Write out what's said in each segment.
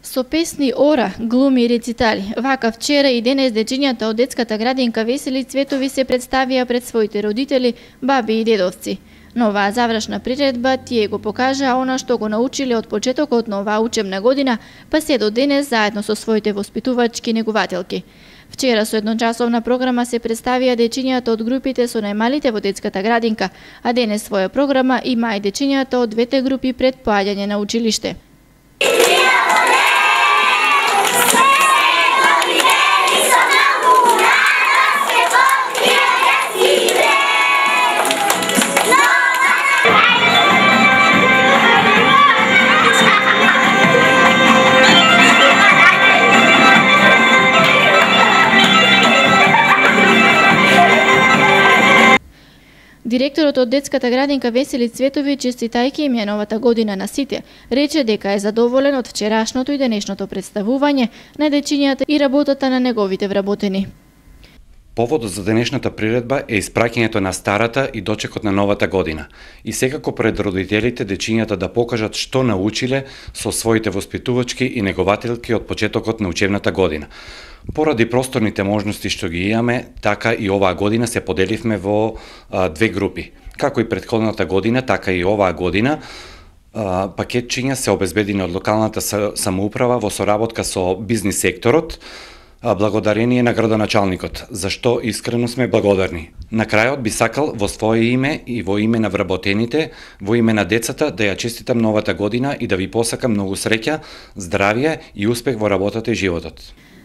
Со песни, ора, глуми и рецитали. Вака вчера и денес дечињата од детската градинка Весели Цветови се представија пред своите родители, баби и дедовци. Но оваа завршна приредба тие го покажаа она што го научиле од почетокот на оваа учебна година, па се до денес заедно со своите воспитувачки негователки. Вчера со едночасовна програма се представија дечињата од групите со најмалите во детската градинка, а денес своја програма има и дечињата од двете групи пред поаѓање на училиште. Директорот од детската градинка Весели Цветови, честитајќи им ја новата година на сите, рече дека е задоволен од вчерашното и денешното представување на дечињата и работата на неговите вработени. Поводот за денешната приредба е испраќањето на старата и дочекот на новата година. И секако пред родителите дечињата да покажат што научиле со своите воспитувачки и негователки од почетокот на учебната година. Поради просторните можности што ги имаме, така и оваа година се поделивме во две групи. Како и претходната година, така и оваа година, пакетчиња се обезбедени од локалната самоуправа во соработка со бизнис секторот, благодарение на градоначалникот, за што искрено сме благодарни. На крајот би сакал во свое име и во име на вработените, во име на децата да ја честитам новата година и да ви посакам многу среќа, здравје и успех во работата и животот.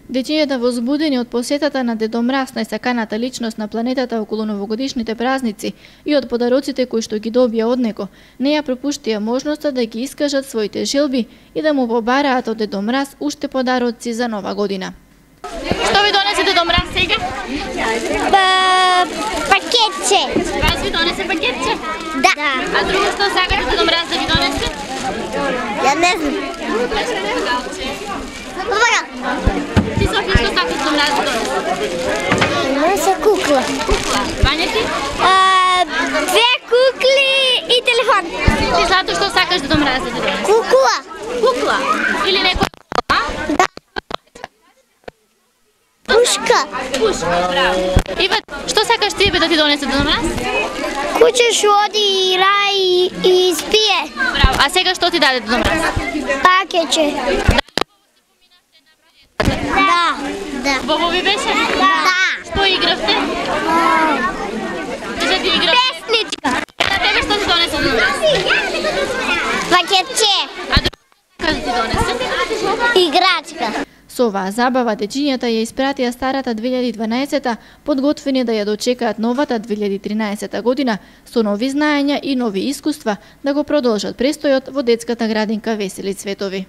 Дечињата возбудени од посетата на Дедо Мраз, најсаканата личност на планетата околу новогодишните празници и од подароците кои што ги добија од него, не ја пропуштија можноста да ги искажат своите желби и да му побараат од Дедо Мраз уште подароци за нова година. Што ви донесе Дедо Мраз сега? Пакетче. Вас ви донесе пакетче? Да. А друго што сакате Дедо Мраз да ви донесе? Ја не знам. Ти Софија што сакаш Дедо Мраз да донесе? Донесе кукла. Кукла. Вања ти? Две кукли и телефон. Ти Злато што сакаш Дедо Мраз да ти донесе? Кукла. Кукла? Или некој? Пушка. Пушка, браво. Ива, што сакаш ти да ти донесе Дедо Мраз? Куќе што оди игра и спие. Браво. А сега што ти даде Дедо Мраз? Пакетче. Да. Да. Бобови беше? Да. Што игравте? Кажа ти игра. Песничка. На тебе што ти донесе Дедо Мраз? Пакетче. А друго што ти донесе? Играчка. Со оваа забава дечињата ја испратија старата 2012-та, подготвени да ја дочекаат новата 2013 година со нови знаења и нови искуства да го продолжат престојот во детската градинка Весели Цветови.